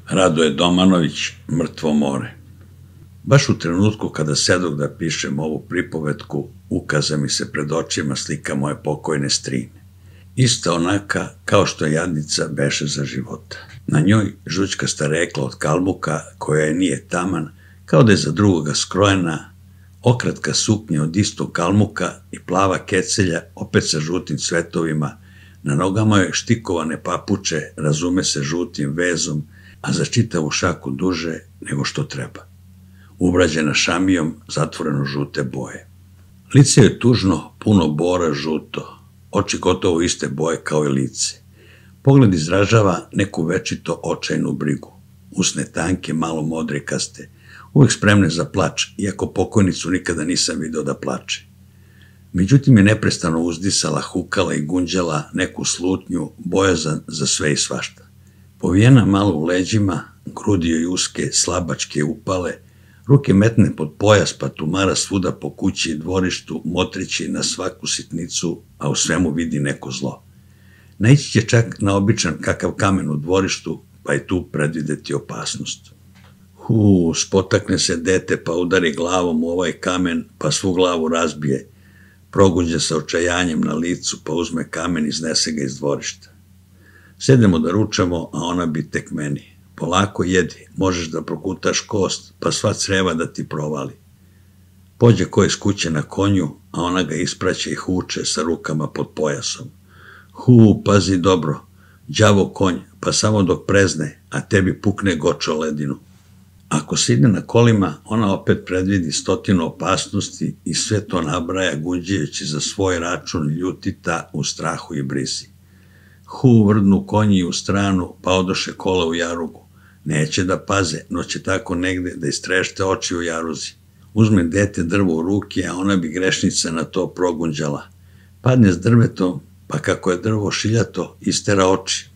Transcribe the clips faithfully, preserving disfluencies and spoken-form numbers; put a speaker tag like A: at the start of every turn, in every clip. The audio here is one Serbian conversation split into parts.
A: Radoje Domanović, Mrtvo more. Baš u trenutku kada sedog da pišem ovu pripovetku, ukaza mi se pred očima slika moje pokojne strine. Ista onaka kao što jadnica beše za života. Na njoj žućkasta rekla od kalmuka, koja je nije taman, kao da je za drugoga skrojena, okratka suknja od istog kalmuka i plava kecelja, opet sa žutim cvetovima, na nogama joj štikovane papuče, razume se žutim vezom, a za čitavu šaku duže nego što treba. Ubrađena šamijom, zatvoreno žute boje. Lice je tužno, puno bora žuto, oči gotovo iste boje kao i lice. Pogled izražava neku večito očajnu brigu. Usne tanke, malo modrikaste, uvek spremne za plač, iako pokojnicu nikada nisam video da plače. Međutim je neprestano uzdisala, hukala i gunđala neku slutnju, bojazan za sve i svašta. Povijena malo u leđima, grudi joj uske, slabačke upale, ruke metne pod pojas pa tumara svuda po kući i dvorištu, motrići na svaku sitnicu, a u svemu vidi neko zlo. Naići će čak na običan kakav kamen u dvorištu, pa i tu predvideti opasnost. Hu, spotakne se dete pa udari glavom u ovaj kamen, pa svu glavu razbije, proguđe sa očajanjem na licu, pa uzme kamen i iznese ga iz dvorišta. Sedemo da ručamo, a ona bi tek meni. Polako jedi, možeš da prokutaš kost, pa sva creva da ti provali. Pođe ko iz kuće na konju, a ona ga ispraća i huče sa rukama pod pojasom. Hu, pazi dobro, đavo konj, pa samo dok prezne, a tebi pukne gočo ledinu. Ako se ide na kolima, ona opet predvidi stotinu opasnosti i sve to nabraja gunđajući za svoj račun ljutita u strahu i brizi. Hu, vrdnu konji u stranu, pa odoše kola u jarugu. Neće da paze, no će tako negde da istrešte oči u jaruzi. Uzme dete drvo u ruke, a ona bi grešnica na to progunđala. Padne s drvetom, pa kako je drvo šiljato, istera oči.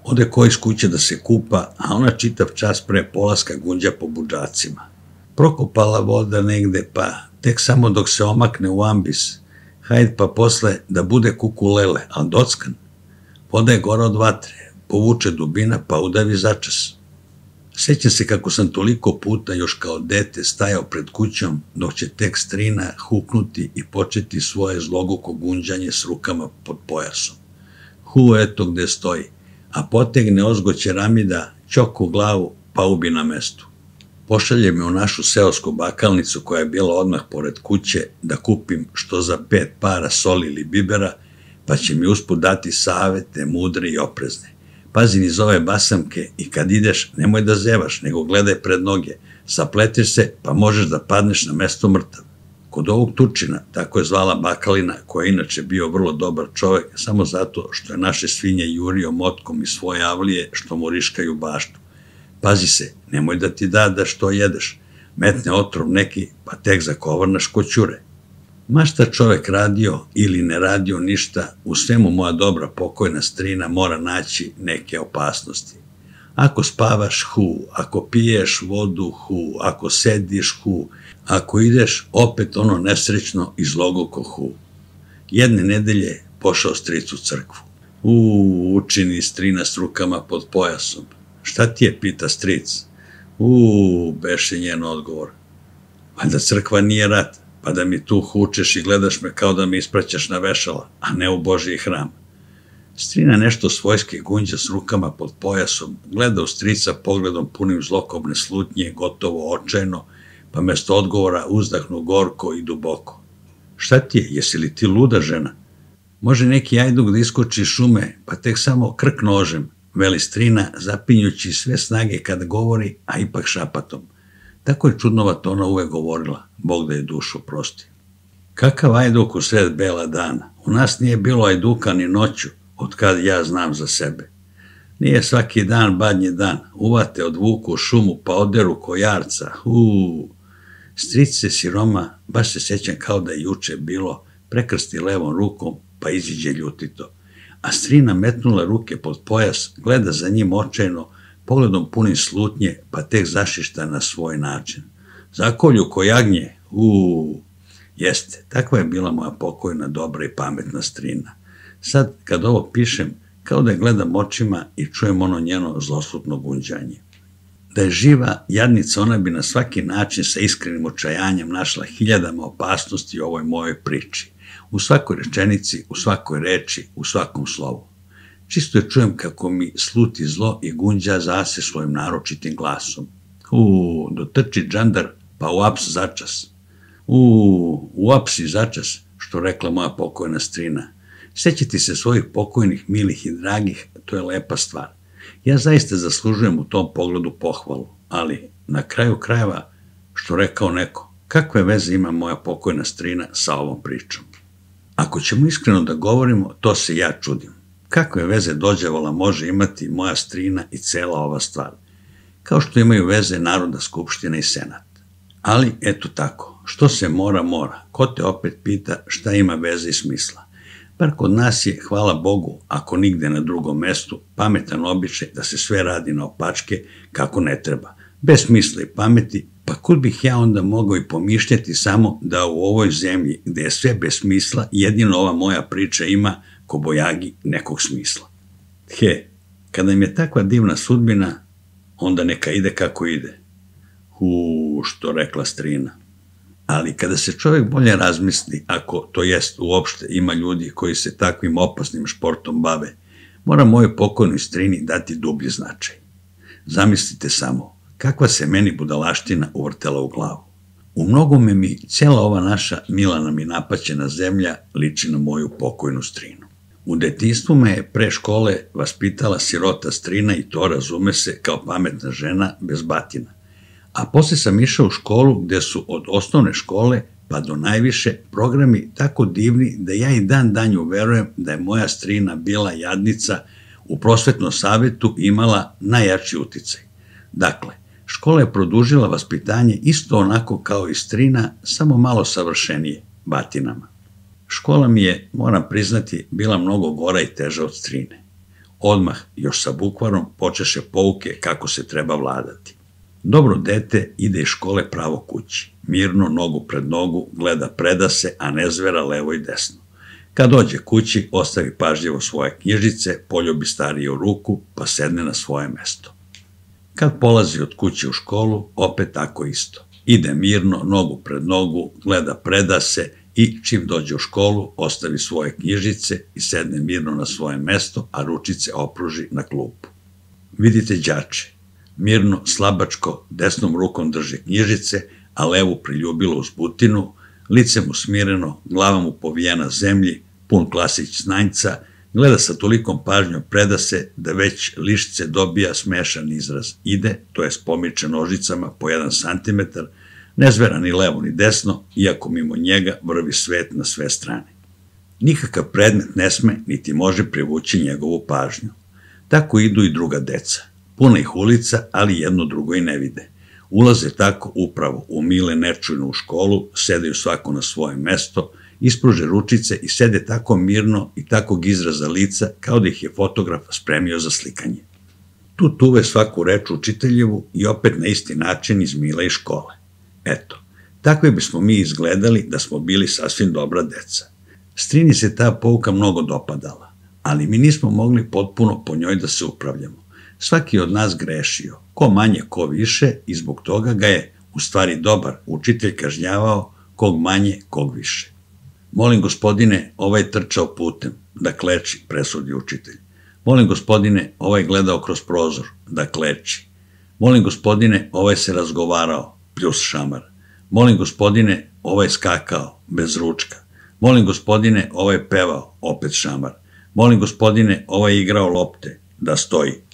A: Ode ko iz kuće da se kupa, a ona čitav čas pre polaska gunđa po budžacima. Prokopala voda negde, pa tek samo dok se omakne u ambis. Hajde pa posle da bude kukulele, al dockan. Voda je gora od vatre, povuče dubina pa udavi začas. Sećam se kako sam toliko puta još kao dete stajao pred kućom, dok će tek strina huknuti i početi svoje zloguko gunđanje s rukama pod pojasom. Hu, eto gde stoji, a potegne ozgo ćeramida, ćok u glavu, pa ubi na mestu. Pošalje me u našu seosku bakalnicu koja je bila odmah pored kuće da kupim što za pet para soli ili bibera, pa će mi usput dati savete, mudre i oprezne. Pazi niz ove basamke i kad ideš nemoj da zevaš, nego gledaj pred noge, sapletiš se pa možeš da padneš na mesto mrtav. Kod ovog Turčina, tako je zvala bakalina, koja je inače bio vrlo dobar čovek, samo zato što je naše svinje jurio motkom iz svoje avlije što mu riškaju baštu. Pazi se, nemoj da ti da da što jedeš, metne otrov neki pa tek zakovrnaš ko ćure. Ma šta čovek radio ili ne radio ništa, u svemu moja dobra pokojna strina mora naći neke opasnosti. Ako spavaš, hu, ako piješ vodu, hu, ako sediš, hu, ako ideš, opet ono nesrećno i zlogoko hu. Jedne nedelje pošao stric u crkvu. Uuu, učini strina s rukama pod pojasom. Šta ti je, pita stric? Uuu, beše njen odgovor. Valjda crkva nije rat, pa da mi tu hučeš i gledaš me kao da me ispraćaš na vešala, a ne u Božji hram. Strina nešto svojske gunđa s rukama pod pojasom, gleda u strica pogledom punim zlokobne slutnje, gotovo očajno, pa mesto odgovora uzdahnu gorko i duboko. Šta ti je, jesi li ti luda žena? Može neki ajduk da iskoči iz šume, pa tek samo krk nožem, veli strina, zapinjući sve snage kada govori, a ipak šapatom. Tako je čudnovato ona uvek govorila, Bog da je dušu prosti. Kakav ajduk u sred bela dana? U nas nije bilo ajduka ni noću, od kad ja znam za sebe. Nije svaki dan badnji dan, uvate odvuku u šumu pa oderu ko jarca, huu. Strice siroma, baš se sećam kao da je juče bilo, prekrsti levom rukom pa iziđe ljutito. A strina metnula ruke pod pojas, gleda za njim očajno, pogledom punim slutnje, pa tek zašišta na svoj način. Zakolju ko jagnje, uuu. Jeste, takva je bila moja pokojna, dobra i pametna strina. Sad, kad ovo pišem, kao da je gledam očima i čujem ono njeno zloslutno gunđanje. Da je živa jadnica, ona bi na svaki način sa iskrenim očajanjem našla hiljadama opasnosti u ovoj mojoj priči. U svakoj rečenici, u svakoj reči, u svakom slovu. Čisto je čujem kako mi sluti zlo i gunđa zase svojim naročitim glasom. U, dotrči džandar, pa u aps začas. U, u aps i začas, što rekla moja pokojna strina. Sećati se svojih pokojnih, milih i dragih, to je lepa stvar. Ja zaista zaslužujem u tom pogledu pohvalu, ali na kraju krajeva, što rekao neko, kakve veze ima moja pokojna strina sa ovom pričom? Ako ćemo iskreno da govorimo, to se ja čudim. Kakve veze dođevala može imati moja strina i cela ova stvar? Kao što imaju veze Narodna skupština i Senat. Ali, eto tako, što se mora, mora. Ko te opet pita šta ima veze i smisla? Bar kod nas je, hvala Bogu, ako nigde na drugom mestu, pametan običaj da se sve radi na opačke kako ne treba. Bez smisla i pameti, pa kud bih ja onda mogao i pomišljati samo da u ovoj zemlji, gde je sve bez smisla, jedino ova moja priča ima kobojagi nekog smisla. He, kada im je takva divna sudbina, onda neka ide kako ide. Hu, što rekla strina. Ali kada se čovjek bolje razmisli, ako to jest uopšte ima ljudi koji se takvim opasnim športom bave, mora mojoj pokojnoj strini dati dublji značaj. Zamislite samo, kakva se meni budalaština uvrtela u glavu. U mnogome mi cijela ova naša mila nam i napaćena zemlja liči na moju pokojnu strinu. U detinjstvu me je pre škole vaspitala sirota strina i to razume se kao pametna žena bez batina. A posle sam išao u školu gde su od osnovne škole pa do najviše programi tako divni da ja i dan danju verujem da je moja strina bila jadnica u prosvetnom savetu i imala najjači uticaj. Dakle, škola je produžila vaspitanje isto onako kao i strina, samo malo savršenije, batinama. Škola mi je, moram priznati, bila mnogo gora i teža od strine. Odmah, još sa bukvarom, počeše pouke kako se treba vladati. Dobro dete ide iz škole pravo kući. Mirno, nogu pred nogu, gleda predase, a ne zvera levo i desno. Kad dođe kući, ostavi pažljivo svoje knjižice, poljubi stariju ruku, pa sedne na svoje mesto. Kad polazi od kuće u školu, opet tako isto. Ide mirno, nogu pred nogu, gleda predase i čim dođe u školu, ostavi svoje knjižice i sedne mirno na svoje mesto, a ručice opruži na klupu. Vidite đače. Mirno, slabačko, desnom rukom drže knjižice, a levu priljubilo uz butinu, lice mu smireno, glava mu povijena zemlji, pun klasić znanjca, gleda sa tolikom pažnjom predase da već lišće dobija smešan izraz. Ide, to je pomiče nožicama po jedan santimetar, ne zvera ni levo ni desno, iako mimo njega vrvi svet na sve strane. Nikakav predmet ne sme, niti može privući njegovu pažnju. Tako idu i druga deca. Puna ih ulica, ali jedno drugo i ne vide. Ulaze tako upravo u mile nečujno u školu, sedaju svako na svoje mesto, ispruže ručice i sede tako mirno i takvog izraza lica kao da ih je fotograf spremio za slikanje. Tu tuve svaku reč učiteljevu i opet na isti način iz mila i škole. Eto, takve bismo mi izgledali da smo bili sasvim dobra deca. Strini se ta pouka mnogo dopadala, ali mi nismo mogli potpuno po njoj da se upravljamo. Svaki od nas grešio, ko manje, ko više, i zbog toga ga je, u stvari dobar, učitelj kažnjavao, kog manje, kog više. Molim gospodine, ovaj trčao putem, da kleči, presudi učitelj. Molim gospodine, ovaj gledao kroz prozor, da kleči. Molim gospodine, ovaj se razgovarao, pljus šamar. Molim gospodine, ovaj skakao, bez ručka. Molim gospodine, ovaj pevao, opet šamar. Molim gospodine, ovaj igrao lopte, da stoji.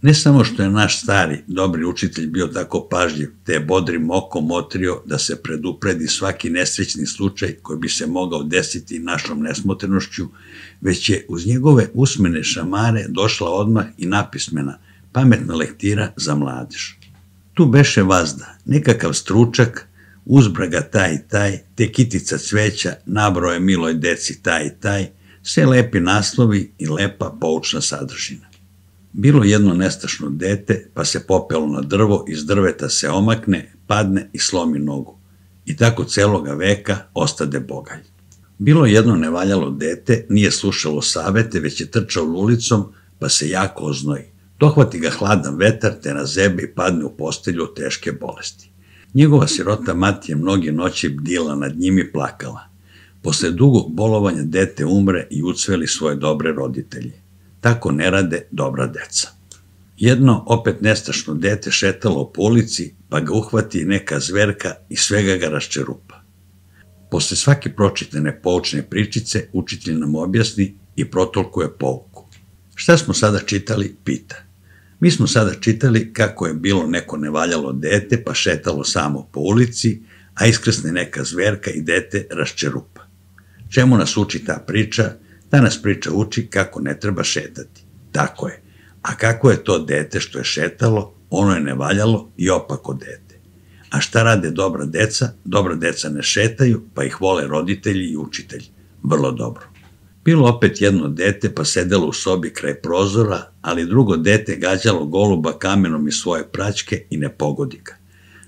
A: Ne samo što je naš stari, dobri učitelj bio tako pažljiv, te je bodrim okom otrio da se predupredi svaki nesrećni slučaj koji bi se mogao desiti našom nesmotrenošću, već je uz njegove usmene šamare došla odmah i napismena, pametna lektira za mladež. Tu beše vazda, nekakav stručak, uzbraga taj i taj, te kitica cveća, nabroje miloj deci taj i taj, sve lepi naslovi i lepa poučna sadržina. Bilo jedno nestašno dete, pa se popelo na drvo, iz drveta se omakne, padne i slomi nogu. I tako celoga veka ostade bogalj. Bilo jedno nevaljalo dete, nije slušalo savete, već je trčalo ulicom, pa se jako oznoji. Dohvati ga hladan vetar, te na zebe i padne u postelju od teške bolesti. Njegova sirota mati je mnoge noći bdila nad njim i plakala. Posle dugog bolovanja dete umre i ucveli svoje dobre roditelje. Tako ne rade dobra deca. Jedno, opet nestašno dete šetalo po ulici, pa ga uhvati neka zverka i svega ga raščerupa. Posle svake pročitane poučne pričice, učitelj nam objasni i protolkuje pouku. Šta smo sada čitali, pita. Mi smo sada čitali kako je bilo neko nevaljalo dete, pa šetalo samo po ulici, a iskrsne neka zverka i dete raščerupa. Čemu nas uči ta priča? Ta nas priča uči kako ne treba šetati. Tako je. A kako je to dete što je šetalo, ono je nevaljalo i opako dete. A šta rade dobra deca? Dobra deca ne šetaju, pa ih vole roditelji i učitelji. Vrlo dobro. Bilo opet jedno dete, pa sedelo u sobi kraj prozora, ali drugo dete gađalo goluba kamenom iz svoje praćke i ne pogodi ga.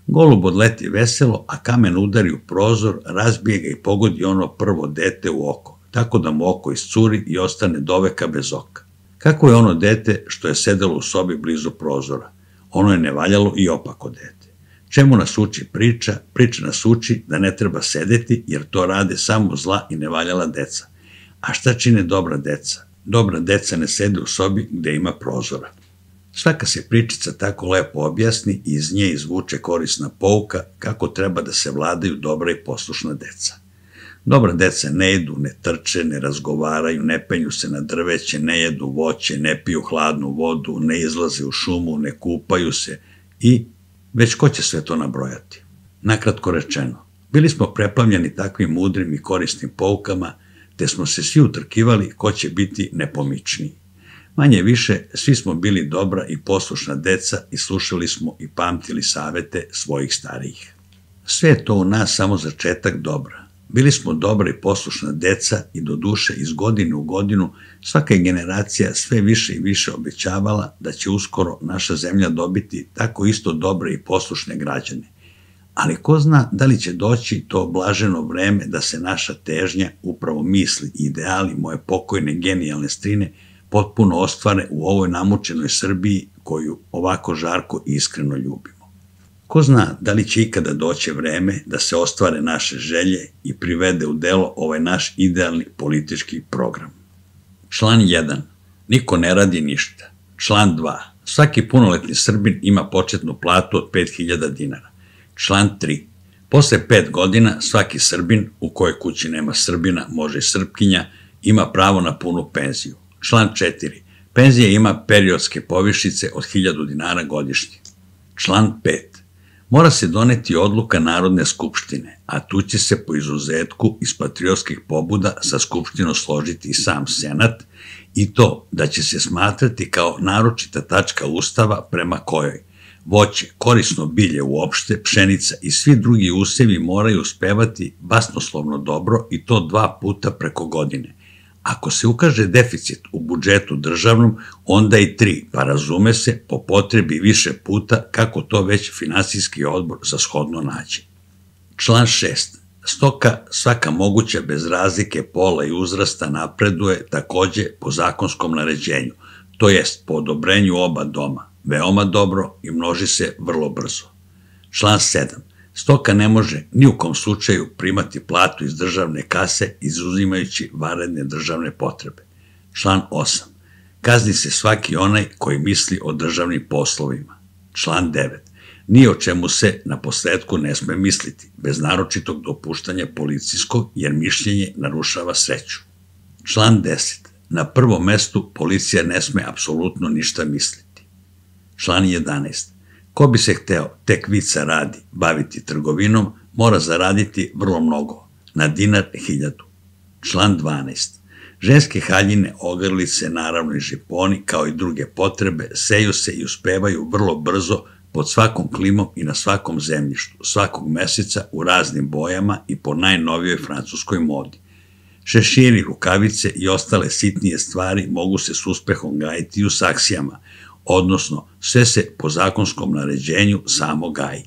A: Golub odleti veselo, a kamen udari u prozor, razbije ga i pogodi ono prvo dete u oko, tako da mu oko iscuri i ostane doveka bez oka. Kako je ono dete što je sedelo u sobi blizu prozora? Ono je nevaljalo i opako dete. Čemu nas uči priča? Priča nas uči da ne treba sedeti, jer to rade samo zla i nevaljala deca. A šta čine dobra deca? Dobra deca ne sede u sobi gde ima prozora. Svaka se pričica tako lepo objasni i iz nje izvuče korisna pouka kako treba da se vladaju dobra i poslušna deca. Dobra deca ne jedu, ne trče, ne razgovaraju, ne penju se na drveće, ne jedu voće, ne piju hladnu vodu, ne izlaze u šumu, ne kupaju se i već ko će sve to nabrojati. Nakratko rečeno, bili smo preplavljeni takvim mudrim i korisnim poukama, te smo se svi utrkivali ko će biti nepomičniji. Manje više, svi smo bili dobra i poslušna deca i slušali smo i pamtili savete svojih starijih. Sve je to u nas samo začetak dobra. Bili smo dobra i poslušna deca i do duše iz godine u godinu svaka je generacija sve više i više obećavala da će uskoro naša zemlja dobiti tako isto dobre i poslušne građane. Ali ko zna da li će doći to blaženo vreme da se naša težnja, upravo misli i ideali moje pokojne genijalne strine potpuno ostvare u ovoj namučenoj Srbiji koju ovako žarko i iskreno ljubimo. Ko zna da li će ikada doći vreme da se ostvare naše želje i privede u delo ovaj naš idealni politički program. Član jedan. Niko ne radi ništa. Član dva. Svaki punoletni Srbin ima početnu platu od pet hiljada dinara. Član tri. Posle pet godina svaki Srbin, u kojoj kući nema Srbina, može i Srpkinja, ima pravo na punu penziju. Član četiri. Penzija ima periodske povišice od hiljadu dinara godišnje. Član pet. Mora se doneti odluka Narodne skupštine, a tu će se po izuzetku iz patriotskih pobuda sa skupštinom složiti i sam Senat, i to da će se smatrati kao naročita tačka Ustava prema kojoj voće, korisno bilje uopšte, pšenica i svi drugi usevi moraju uspevati basnoslovno dobro i to dva puta preko godine. Ako se ukaže deficit u budžetu državnom, onda i tri, pa razume se, po potrebi više puta kako to već finansijski odbor za shodno nađe. Član šest. Stoka svaka moguća bez razlike pola i uzrasta napreduje takođe po zakonskom naređenju, to jest po odobrenju oba doma, veoma dobro i množi se vrlo brzo. Član sedam. Stoka ne može ni u kom slučaju primati platu iz državne kase izuzimajući vanredne državne potrebe. Član osam. Kazni se svaki onaj koji misli o državnim poslovima. Član devet. Ni o čemu se na posledku ne sme misliti, bez naročitog dopuštanja policijskog, jer mišljenje narušava sreću. Član deset. Na prvom mestu policija ne sme apsolutno ništa misliti. Član jedanaest. Ko bi se hteo, tek vica radi, baviti trgovinom, mora zaraditi vrlo mnogo, na dinar hiljadu. Član dvanaest. Ženske haljine, ogrlice, naravno i žiponi, kao i druge potrebe, seju se i uspevaju vrlo brzo pod svakom klimom i na svakom zemljištu, svakog meseca u raznim bojama i po najnovijoj francuskoj modi. Šeširi, rukavice i ostale sitnije stvari mogu se s uspehom gajiti i u saksijama, odnosno sve se po zakonskom naređenju samo gaji.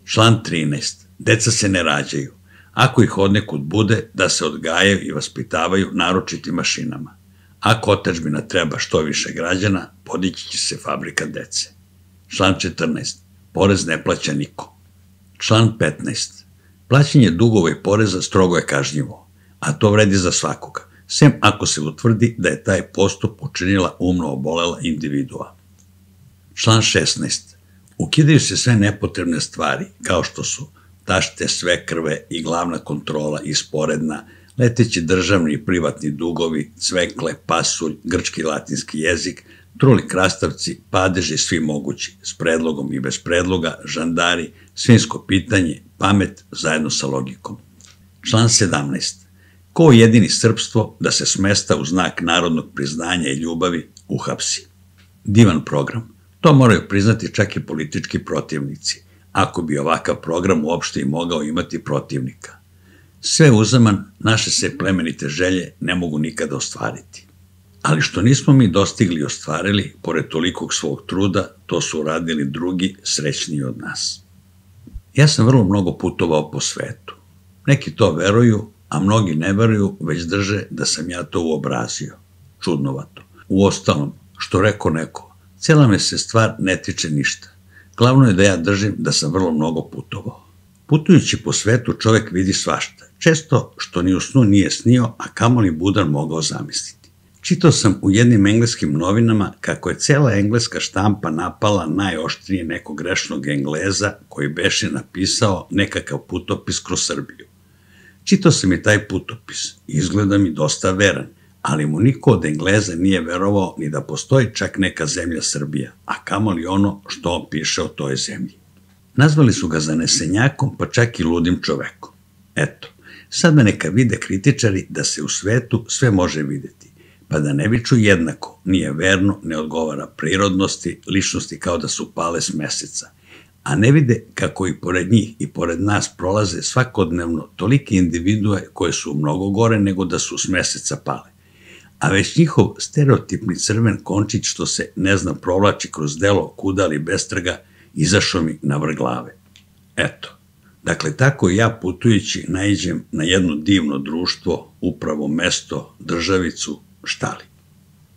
A: Član trinaest. Deca se ne rađaju. Ako ih odnekud bude, da se odgajaju i vaspitavaju naročitim mašinama. Ako otadžbina treba što više građana, podići će se fabrika dece. Član četrnaest. Porez ne plaća niko. Član petnaest. Plaćanje dugova i poreza strogo je kažnjivo, a to vredi za svakoga, sem ako se utvrdi da je taj postup učinila umno obolela individua. Član šesnaest. Ukidaju se sve nepotrebne stvari, kao što su tašte, svekrve i glavna kontrola i sporedna, leteći državni i privatni dugovi, cvekle, pasulj, grčki i latinski jezik, truli krastavci, padeži svi mogući, s predlogom i bez predloga, žandari, svinjsko pitanje, pamet zajedno sa logikom. Član sedamnaest. Ko jedini srpstvo da se smesta u znak narodnog priznanja i ljubavi uhapsi. Divan program. To moraju priznati čak i politički protivnici, ako bi ovakav program uopšte i mogao imati protivnika. Sve uzaman, naše se plemenite želje ne mogu nikada ostvariti. Ali što nismo mi dostigli i ostvarili, pored tolikog svog truda, to su uradili drugi srećniji od nas. Ja sam vrlo mnogo putovao po svetu. Neki to veruju, a mnogi ne veruju, već drže da sam ja to uobrazio. Čudnovato. Uostalom, što reko neko, cijela me se stvar ne tiče ništa. Glavno je da ja držim da sam vrlo mnogo putovao. Putujući po svetu čovek vidi svašta, često što ni u snu nije snio, a kamoli budan mogao zamisliti. Čitao sam u jednim engleskim novinama kako je cela engleska štampa napala najoštrije nekog grešnog Engleza koji beše napisao nekakav putopis kroz Srbiju. Čitao sam i taj putopis i izgleda mi dosta veran, ali mu niko od Engleza nije verovao ni da postoji čak neka zemlja Srbija, a kamoli ono što on piše o toj zemlji. Nazvali su ga zanesenjakom, pa čak i ludim čovekom. Eto, sada neka vide kritičari da se u svetu sve može videti, pa da ne viču jednako, nije verno, ne odgovara prirodnosti, ličnosti kao da su pale s meseca, a ne vide kako i pored njih i pored nas prolaze svakodnevno tolike individue koje su mnogo gore nego da su s meseca pale. A već njihov stereotipni crven končić što se, ne znam, provlači kroz delo kudali bestrga, izašao mi na vrh glave. Eto, dakle, tako i ja putujući naiđem na jedno divno društvo, upravo mesto, državicu, štali.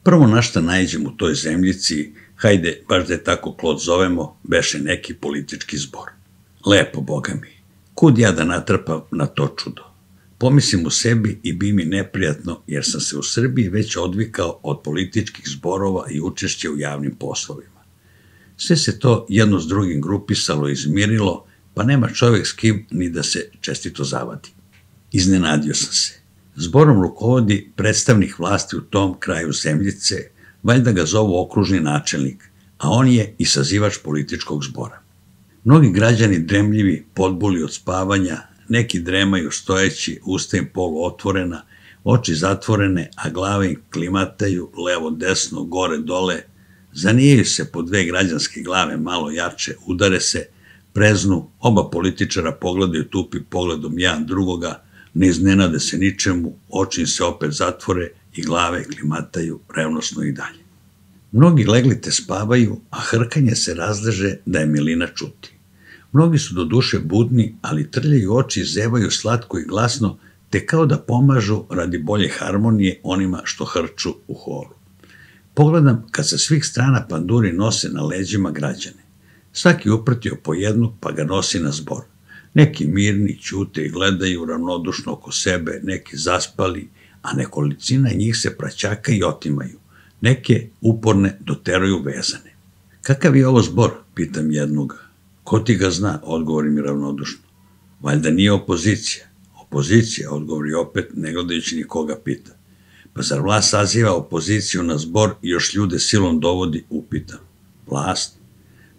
A: Prvo na šta naiđem u toj zemljici, hajde, baš da je tako Klod zovemo, beše neki politički zbor. Lepo, boga mi, kud ja da natrpam na to čudo? Pomislim u sebi i bi mi neprijatno, jer sam se u Srbiji već odvikao od političkih zborova i učešća u javnim poslovima. Sve se to jedno s drugim grupisalo i izmirilo, pa nema čovek s kim ni da se čestito zavadi. Iznenadio sam se. Zborom rukovodi predstavnik vlasti u tom kraju zemljice, valjda ga zovu okružni načelnik, a on je i sazivač političkog zbora. Mnogi građani dremljivi, podbuli od spavanja, neki dremaju stojeći, usta im polu otvorena, oči zatvorene, a glave im klimataju levo, desno, gore, dole, zanijaju se po dve građanske glave malo jače, udare se, preznu, oba političara pogledaju tupi pogledom jedan drugoga, ne iznenade se ničemu, oči im se opet zatvore i glave klimataju revnosno i dalje. Mnogi legli te spavaju, a hrkanje se razleže da je milina čuti. Mnogi su do duše budni, ali trljaju oči i zevaju slatko i glasno, te kao da pomažu radi bolje harmonije onima što hrču u horu. Pogledam kad sa svih strana panduri nose na leđima građane. Svaki uprtio po jednu, pa ga nosi na zbor. Neki mirni, ćute i gledaju ravnodušno oko sebe, neki zaspali, a nekolicina njih se praćaka i otimaju. Neke uporne doteruju vezane. Kakav je ovo zbor, pitam jednoga. Ko ti ga zna, odgovori mi ravnodušno. Valjda nije opozicija. Opozicija, odgovori opet, ne gledajući nikoga pita. Pa zar vlast saziva opoziciju na zbor i još ljude silom dovodi, upitam. Vlast?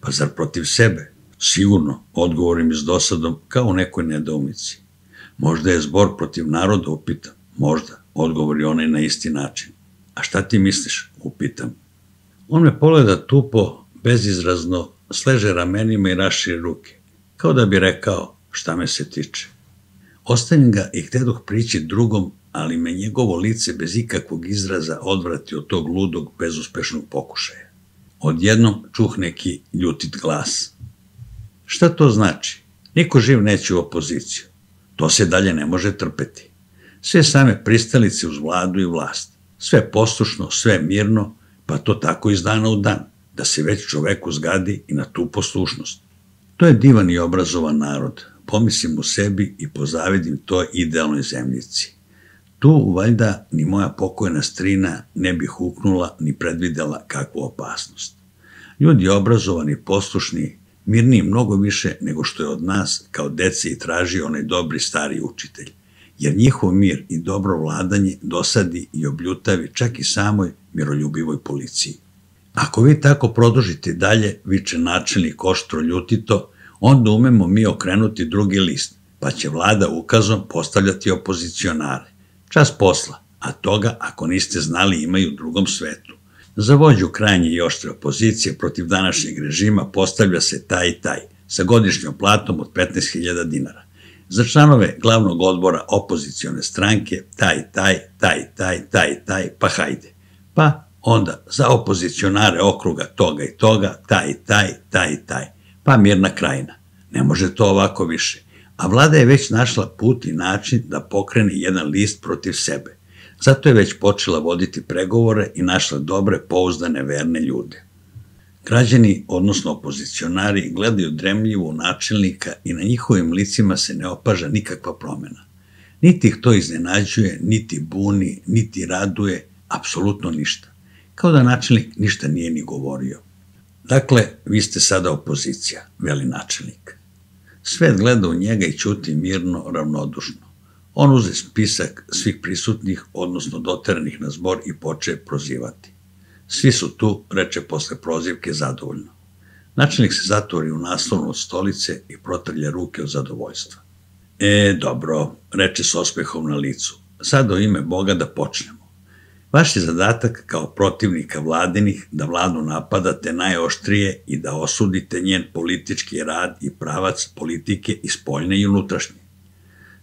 A: Pa zar protiv sebe? Sigurno, odgovorim s dosadom, kao u nekoj nedoumici. Možda je zbor protiv naroda, upitam. Možda, odgovori onaj na isti način. A šta ti misliš, upitam. On me pogleda tupo, bezizrazno, sleže ramenima i raširi ruke, kao da bi rekao šta me se tiče. Ostavim ga i htedoh prići drugom, ali me njegovo lice bez ikakvog izraza odvrati od tog ludog, bezuspešnog pokušaja. Odjednom čuh neki ljutit glas. Šta to znači? Niko živ neće u opoziciju. To se dalje ne može trpeti. Sve same pristalice uz vladu i vlast. Sve poslušno, sve mirno, pa to tako iz dana u dan, da se već čoveku zgadi i na tu poslušnost. To je divan i obrazovan narod, pomislim u sebi i pozavidim toj idealnoj zemljici. Tu, valjda, ni moja pokojna strina ne bi huknula ni predvidela kakvu opasnost. Ljudi obrazovani, poslušni, mirniji mnogo više nego što je od nas kao dece i traži onaj dobri stari učitelj, jer njihov mir i dobro vladanje dosadi i obljutavi čak i samoj miroljubivoj policiji. Ako vi tako produžite dalje, viče načelnik oštro ljutito, onda umemo mi okrenuti drugi list, pa će vlada ukazom postavljati opozicionare. Čas posla, a toga, ako niste znali, ima i u drugom svetu. Za vođu krajnje i oštre opozicije protiv današnjeg režima postavlja se taj i taj, sa godišnjom platom od petnaest hiljada dinara. Za članove glavnog odbora opozicione stranke, taj, taj, taj, taj, taj, taj, pa hajde. Pa onda za opozicionare okruga toga i toga, taj, taj, taj, taj, pa mirna krajina. Ne može to ovako više. A vlada je već našla put i način da pokrene jedan list protiv sebe. Zato je već počela voditi pregovore i našla dobre, pouzdane, verne ljude. Građani, odnosno opozicionari, gledaju dremljivo načelnika i na njihovim licima se ne opaža nikakva promena. Niti ih to iznenađuje, niti buni, niti raduje, apsolutno ništa. Kao da načelnik ništa nije ni govorio. Dakle, vi ste sada opozicija, veli načelnik. Svet gleda u njega i ćuti mirno, ravnodušno. On uze spisak svih prisutnih, odnosno doteranih na zbor i poče prozivati. Svi su tu, reče posle prozivke zadovoljno. Načelnik se zatvori u naslovnu od stolice i protrlja ruke od zadovoljstva. E, dobro, reče s osmehom na licu. Sad u ime Boga da počnemo. Vaš je zadatak kao protivnika vladinih da vladu napadate najoštrije i da osudite njen politički rad i pravac politike i spoljne i unutrašnje.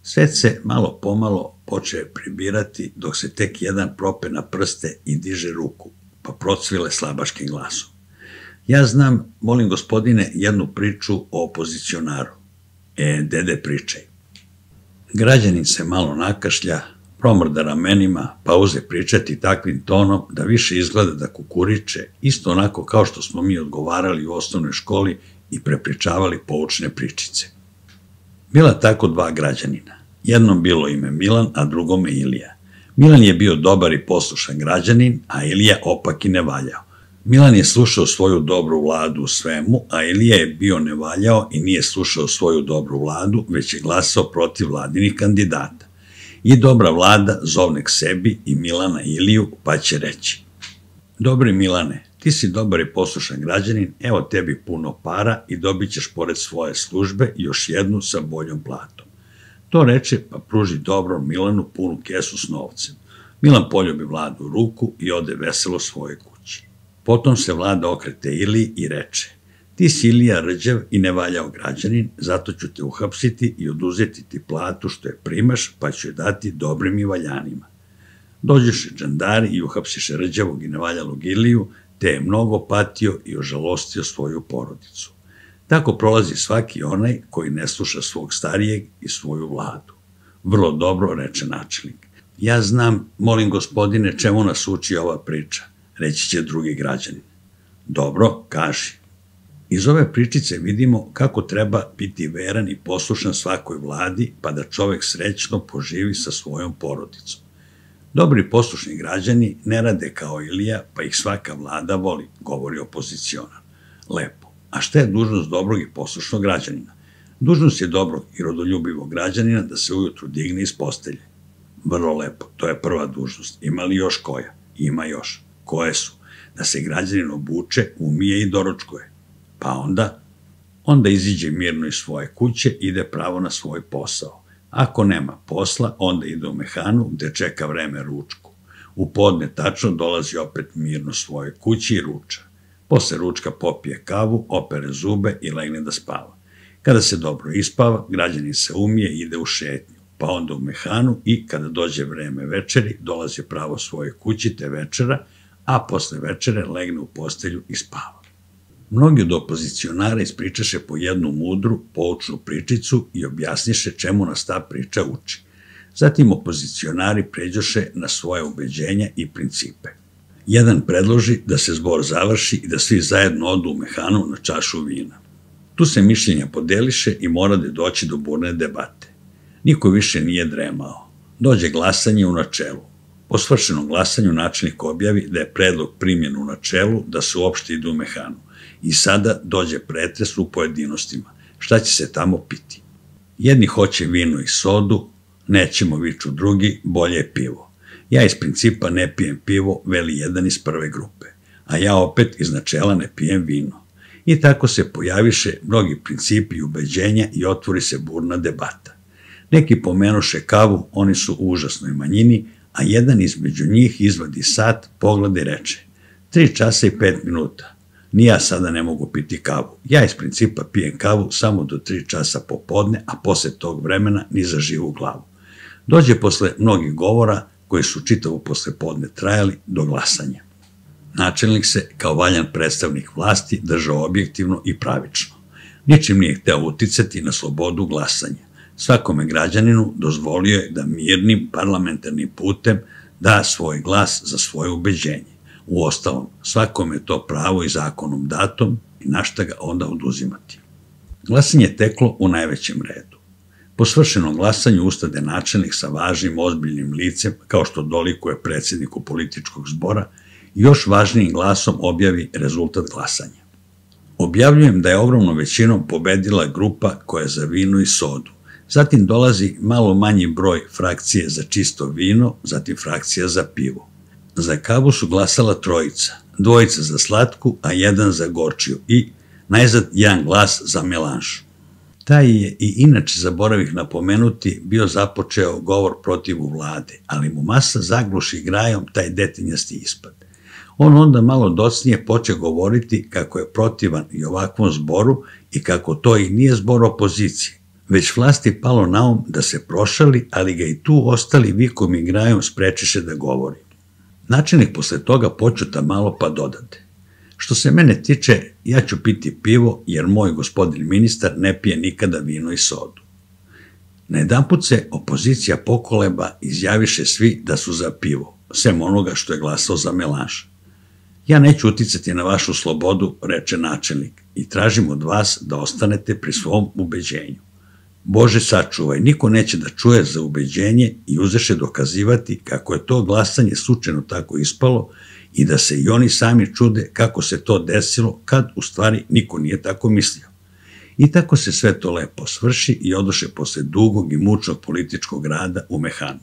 A: Svet se malo pomalo poče pribirati dok se tek jedan prope na prste i diže ruku, pa procvile slabaškim glasom. Ja znam, molim gospodine, jednu priču o opozicionaru. E, dede, pričaj. Građanin se malo nakašlja, promrda ramenima, pa uze pričati takvim tonom da više izgleda da kukuriče, isto onako kao što smo mi odgovarali u osnovnoj školi i prepričavali poučne pričice. Bila tako dva građanina. Jednom bilo ime Milan, a drugome Ilija. Milan je bio dobar i poslušan građanin, a Ilija opak i ne valjao. Milan je slušao svoju dobru vladu u svemu, a Ilija je bio nevaljao i nije slušao svoju dobru vladu, već je glasao protiv vladinih kandidata. I dobra vlada zovne k sebi i Milana i Iliju, pa će reći: Dobri Milane, ti si dobar i poslušan građanin, evo tebi puno para i dobit ćeš pored svoje službe još jednu sa boljom platom. To reče, pa pruži dobrom Milanu punu kesu s novcem. Milan poljubi vladu u ruku i ode veselo svoje kući. Potom se vlada okrete Iliji i reče: Ti si Ilija rđav i nevaljao građanin, zato ću te uhapsiti i oduzeti ti platu što je primaš, pa ću je dati dobrim i valjanima. Dođeše džandari i uhapsiše rđavog i nevaljalog Iliju, te je mnogo patio i ožalostio svoju porodicu. Tako prolazi svaki onaj koji ne sluša svog starijeg i svoju vladu. Vrlo dobro, reče načelnik. Ja znam, molim gospodine, čemu nas uči ova priča, reći će drugi građanin. Dobro, kaži. Iz ove pričice vidimo kako treba biti veran i poslušan svakoj vladi, pa da čovek srećno poživi sa svojom porodicom. Dobri poslušni građani ne rade kao Ilija, pa ih svaka vlada voli, govori opozicionar. Lepo. A šta je dužnost dobrog i poslušnog građanina? Dužnost je dobrog i rodoljubivog građanina da se ujutru digne iz postelje. Vrlo lepo, to je prva dužnost. Ima li još koja? Ima još. Koje su? Da se građanin obuče, umije i doručkuje. Pa onda? Onda iziđe mirno iz svoje kuće, ide pravo na svoj posao. Ako nema posla, onda ide u mehanu gde čeka vreme ručku. U podne tačno dolazi opet mirno svoje kući i ruča. Posle ručka popije kavu, opere zube i legne da spava. Kada se dobro ispava, građanin se umije i ide u šetnju, pa onda u mehanu i kada dođe vreme večeri, dolazi pravo svoje kući te večera, a posle večere legne u postelju i spava. Mnogi od opozicionara ispričaše po jednu mudru, poučnu pričicu i objasniše čemu nas ta priča uči. Zatim opozicionari pređoše na svoje ubeđenja i principe. Jedan predloži da se zbor završi i da svi zajedno odu u mehanu na čašu vina. Tu se mišljenja podeliše i mora da doći do burne debate. Niko više nije dremao. Dođe glasanje u načelu. Po svršenom glasanju načelnik objavi da je predlog primljen u načelu da se uopšte ide u mehanu. I sada dođe pretres u pojedinostima. Šta će se tamo piti? Jedni hoće vino i sodu, nećemo, viču drugi, bolje je pivo. Ja iz principa ne pijem pivo, veli jedan iz prve grupe, a ja opet iz načela ne pijem vino. I tako se pojaviše mnogi principi i ubeđenja i otvori se burna debata. Neki pomenuše kavu, oni su u užasnoj manjini, a jedan između njih izvadi sat, pogleda i reče: tri časa i pet minuta. Ni ja sada ne mogu piti kavu. Ja iz principa pijem kavu samo do tri časa popodne, a posle tog vremena ni za živu glavu. Dođe posle mnogih govora, koji su čitavo posle podne trajali, do glasanja. Načelnik se, kao valjan predstavnik vlasti, držao objektivno i pravično. Ničim nije hteo uticati na slobodu glasanja. Svakome građaninu dozvolio je da mirnim parlamentarnim putem da svoj glas za svoje ubeđenje. Uostalom, svakome je to pravo i zakonom datom i na šta ga onda oduzimati. Glasanje je teklo u najvećem redu. Po svršenom glasanju ustade načelnik sa važnim, ozbiljnim licem, kao što dolikuje predsjedniku političkog zbora, i još važnijim glasom objavi rezultat glasanja. Objavljujem da je ogromnom većinom pobedila grupa koja je za vino i sodu. Zatim dolazi malo manji broj frakcije za čisto vino, zatim frakcija za pivo. Za kavu su glasala trojica, dvojica za slatku, a jedan za gorčiju i, najzad, jedan glas za melanž. Taj je i inače, zaboravih napomenuti, bio započeo govor protivu vlade, ali mu masa zagluši grajom taj detinjasti ispad. On onda malo docnije poče govoriti kako je protivan i ovakvom zboru i kako to i nije zbor opozicije, već vlasti palo na um da se prošali, ali ga i tu ostali vikom i grajom sprečiše da govori. Načelnik posle toga počuta malo pa dodade: što se mene tiče, ja ću piti pivo, jer moj gospodin ministar ne pije nikada vino i sodu. Najedanput se opozicija pokoleba, izjaviše svi da su za pivo, sem onoga što je glasao za melanž. Ja neću uticati na vašu slobodu, reče načelnik, i tražim od vas da ostanete pri svom ubeđenju. Bože sačuvaj, niko neće da čuje za ubeđenje i uzeše dokazivati kako je to glasanje slučajno tako ispalo i da se i oni sami čude kako se to desilo kad u stvari niko nije tako mislio. I tako se sve to lepo svrši i odoše posle dugog i mučnog političkog rada u mehanu.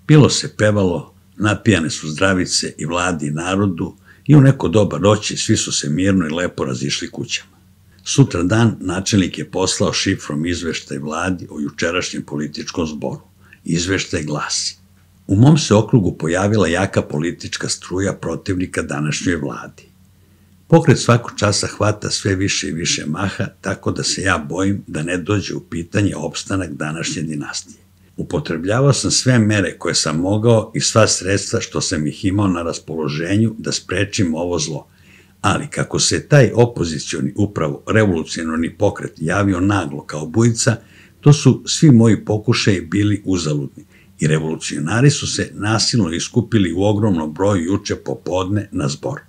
A: Pilo se, pevalo, napijane su zdravice i vladi i narodu i u neko doba noći svi su se mirno i lepo razišli kućama. Sutra dan načelnik je poslao šifrom izveštaj vladi o jučerašnjem političkom zboru. Izveštaj glasi: u mom se okrugu pojavila jaka politička struja protivnika današnjoj vladi. Pokret svakog časa hvata sve više i više maha, tako da se ja bojim da ne dođe u pitanje opstanak današnje dinastije. Upotrebljavao sam sve mere koje sam mogao i sva sredstva što sam ih imao na raspoloženju da sprečim ovo zlo. Ali kako se taj opozicioni, upravo revolucionarni pokret javio naglo kao bujica, to su svi moji pokušaji bili uzaludni i revolucionari su se nasilno iskupili u ogromnom broju juče popodne na zbor.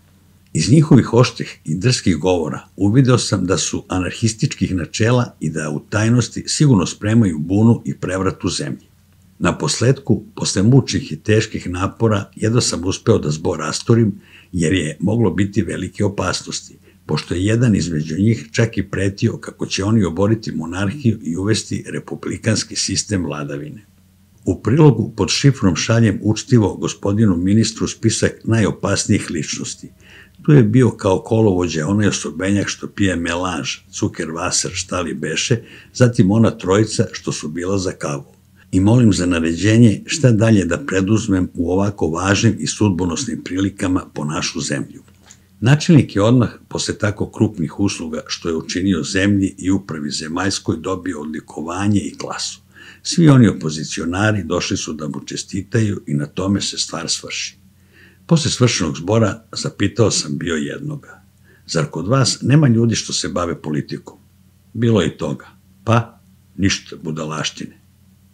A: Iz njihovih oštrih i drskih govora uvideo sam da su anarhističkih načela i da u tajnosti sigurno spremaju bunu i prevrat u zemlji. Na posledku, posle mučnih i teških napora, jedva sam uspeo da zbor rastorim, jer je moglo biti velike opasnosti, pošto je jedan između njih čak i pretio kako će oni oboriti monarhiju i uvesti republikanski sistem vladavine. U prilogu pod šifrom šaljem učtivo gospodinu ministru spisak najopasnijih ličnosti. Tu je bio kao kolovođa onaj osobenjak što pije melanž, cuker vaser, šta li beše, zatim ona trojica što su bila za kavu. I molim za naređenje šta dalje da preduzmem u ovako važnim i sudbonosnim prilikama po našu zemlju. Načelnik je odmah, posle tako krupnih usluga što je učinio zemlji i upravi zemaljskoj, dobio odlikovanje i klasu. Svi oni opozicionari došli su da mu čestitaju i na tome se stvar svrši. Posle svršenog zbora zapitao sam bio jednoga: zar kod vas nema ljudi što se bave politikom? Bilo je i toga. Pa, ništa, budalaštine.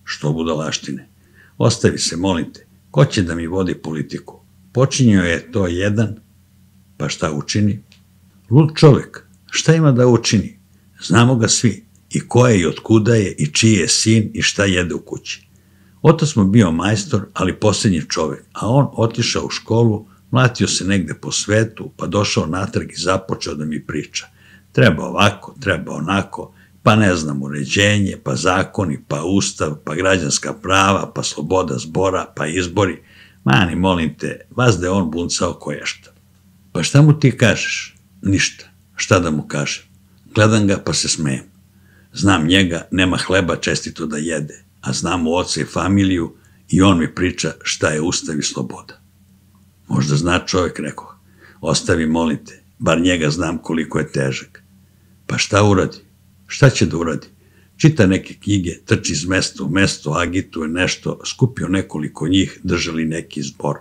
A: Što budalaštine? Ostavi se, molim te, ko će da mi vodi politiku? Počinio je to jedan, pa šta učini? Lud čovek, šta ima da učini? Znamo ga svi, i ko je i otkuda je i čiji je sin i šta jede u kući. Otac mu bio majstor, ali posljednji čovek, a on otišao u školu, mlatio se negde po svetu, pa došao natrag i započeo da mi priča. Treba ovako, treba onako, pa ne znam, uređenje, pa zakoni, pa ustav, pa građanska prava, pa sloboda zbora, pa izbori. Mani, molim te, vas da je on buncao koješta. Pa šta mu ti kažeš? Ništa. Šta da mu kažem? Gledam ga pa se smejem. Znam njega, nema hleba čestito da jede, a znam mu oca i familiju i on mi priča šta je ustav i sloboda. Možda zna čovjek, rekao. Ostavi, molim te, bar njega znam koliko je težak. Pa šta uradi? Šta će da uradi? Čita neke knjige, trči iz mesta u mesto, agituje nešto, skupio nekoliko njih, držali neki zbor.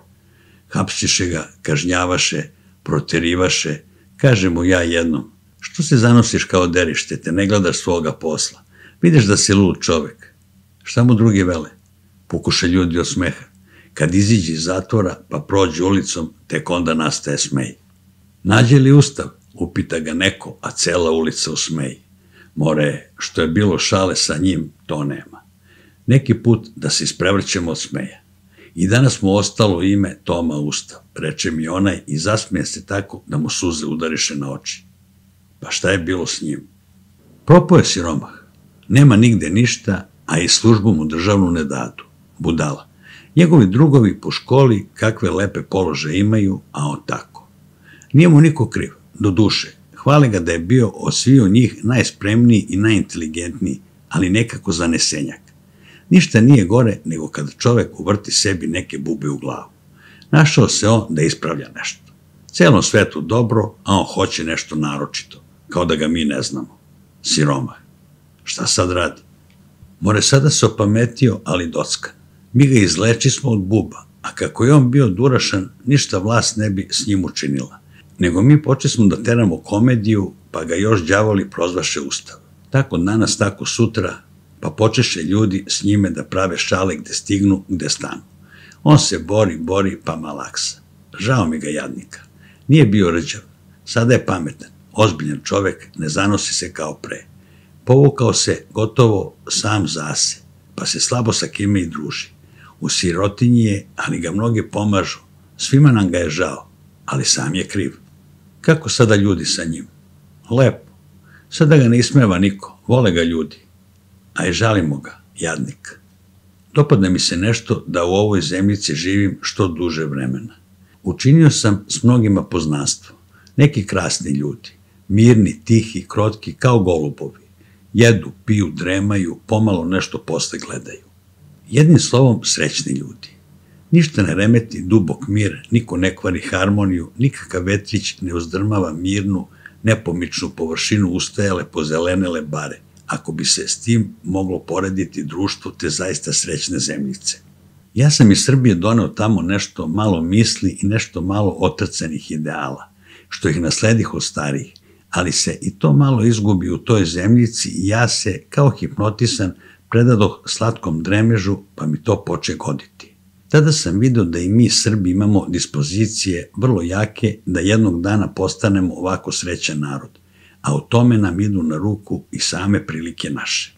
A: Hapsiše ga, kažnjavaše, proterivaše, kaže mu ja jednom, što se zanosiš kao derište, te ne gledaš svoga posla, vidiš da si lud čovek. Šta mu drugi vele? Pukuše ljudi od smeha. Kad iziđe iz zatvora, pa prođe ulicom, tek onda nastaje smej. Nađe li ustav? Upita ga neko, a cela ulica u smeji. More, što je bilo šale sa njim, to nema. Neki put da se isprevrćemo od smeja. I danas mu ostalo ime Toma Ustav, reče mi onaj i zasmije se tako da mu suze udariše na oči. Pa šta je bilo s njim? Propao je siromah. Nema nigde ništa, a i službu mu državnu ne dadu. Budala. Njegovi drugovi po školi kakve lepe položaje imaju, a on tako. Nije mu niko kriv, do duše. Hvale ga da je bio od sviju njih najspremniji i najinteligentniji, ali nekako zanesenjak. Ništa nije gore nego kada čovek uvrti sebi neke bube u glavu. Našao se on da ispravlja nešto. Celom svetu dobro, a on hoće nešto naročito, kao da ga mi ne znamo. Siromah. Šta sad radi? More sada se opametio, ali dockan. Mi ga izlečismo od buba, a kako je on bio durašan, ništa vlast ne bi s njim učinila. Nego mi počesmo da teramo komediju, pa ga još đavoli prozvaše ustav. Tako danas, tako sutra, pa počeše ljudi s njime da prave šale gde stignu, gde stanu. On se bori, bori, pa malaksa. Žao mi ga jadnika. Nije bio rđav. Sada je pametan, ozbiljan čovek, ne zanosi se kao pre. Povukao se gotovo sam zase, pa se slabo sa kime i druži. U sirotinji je, ali ga mnogi pomažu. Svima nam ga je žao, ali sam je kriv. Kako sada ljudi sa njim? Lepo. Sada ga ne ismeva niko, vole ga ljudi. A i žalimo ga, jadnik. Dopadne mi se nešto da u ovoj zemljici živim što duže vremena. Učinio sam s mnogima poznanstvo. Neki krasni ljudi, mirni, tihi, krotki, kao golubovi. Jedu, piju, dremaju, pomalo nešto posle gledaju. Jednim slovom, srećni ljudi. Ništa ne remeti dubok mir, niko ne kvari harmoniju, nikakav vetrić ne uzdrmava mirnu, nepomičnu površinu ustajale pozelenele bare, ako bi se s tim moglo porediti društvo te zaista srećne zemljice. Ja sam iz Srbije doneo tamo nešto malo misli i nešto malo otrcanih ideala, što ih nasledih od starijih, ali se i to malo izgubi u toj zemljici i ja se, kao hipnotisan, predadoh slatkom dremežu, pa mi to poče goditi. Tada sam vidio da i mi Srbi imamo dispozicije vrlo jake da jednog dana postanemo ovako srećan narod, a u tome nam idu na ruku i same prilike naše.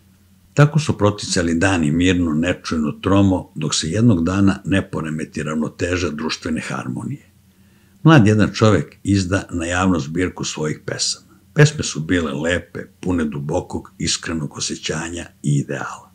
A: Tako su proticali dani mirno, nečujno, tromo, dok se jednog dana ne poremeti ravnoteža društvene harmonije. Mlad jedan čovek izda na javnu zbirku svojih pesama. Pesme su bile lepe, pune dubokog, iskrenog osjećanja i ideala.